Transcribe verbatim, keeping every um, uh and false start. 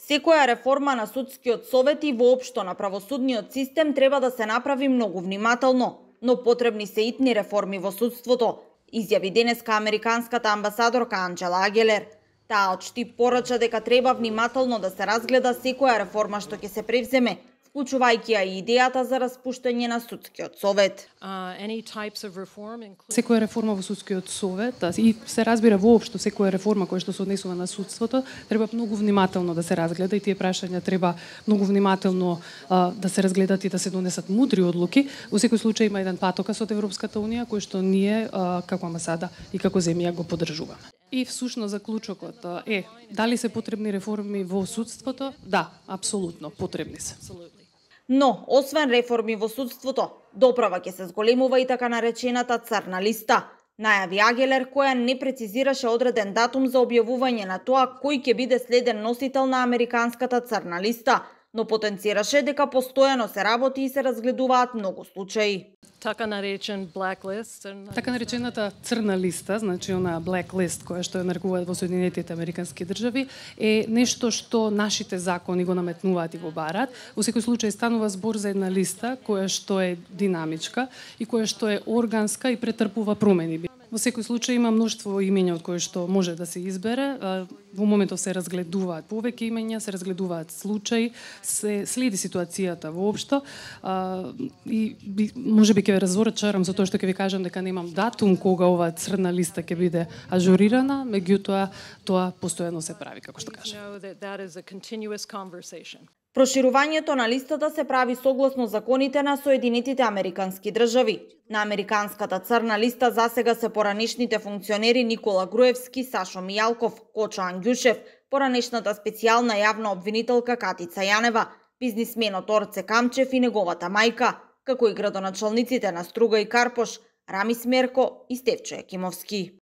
Секоја реформа на судскиот совет и воопшто на правосудниот систем треба да се направи многу внимателно, но потребни се итни реформи во судството, изјави денеска американската амбасадорка Анџела Агелер. Таа отшти порача дека треба внимателно да се разгледа секоја реформа што ќе се превземе, вклучувајќи ја и идејата за распуштање на судскиот совет. Секоја реформа во судскиот совет и се разбира воопшто секоја реформа која што се однесува на судството треба многу внимателно да се разгледа и тие прашања треба многу внимателно а, да се разгледат и да се донесат мудри одлуки. Во секој случај има еден патокас од Европската унија кој што ние а, како амбасада и како земја го поддржуваме. И всушност заклучокот е дали се потребни реформи во судството? Да, апсолутно потребни се. Но, освен реформи во судството, доправа ќе се зголемува и така наречената црна листа. Најави Агелер, која не прецизираше одреден датум за објавување на тоа кој ќе биде следен носител на американската црна листа, но потенцираше дека постојано се работи и се разгледуваат многу случаи. Така наречен blacklist. Така наречената црна листа, значи она blacklist која што ја нарекуваат во Соединетите американски држави, е нешто што нашите закони го наметнуваат и го барат. Во секој случај станува збор за една листа која што е динамичка и која што е органска и претрпува промени. Во секој случај има мноштво имења од кои што може да се избере. Во моментов се разгледуваат повеќе имења, се разгледуваат случаи, се следи ситуацијата воопшто и можеби ќе ве разочарам за тоа што ќе ви кажам дека немам датум кога оваа црна листа ќе биде ажурирана, меѓутоа тоа постојано се прави, како што кажам. Проширувањето на листата се прави согласно законите на Соединетите американски држави. На американската црна листа засега се поранешните функционери Никола Груевски, Сашо Мијалков, Кочо Ангјушев, поранешната специјална јавна обвинителка Катица Јанева, бизнисменот Орце Камчев и неговата мајка, како и градоначалниците на Струга и Карпош, Рамис Мерко и Стевчо Екимовски.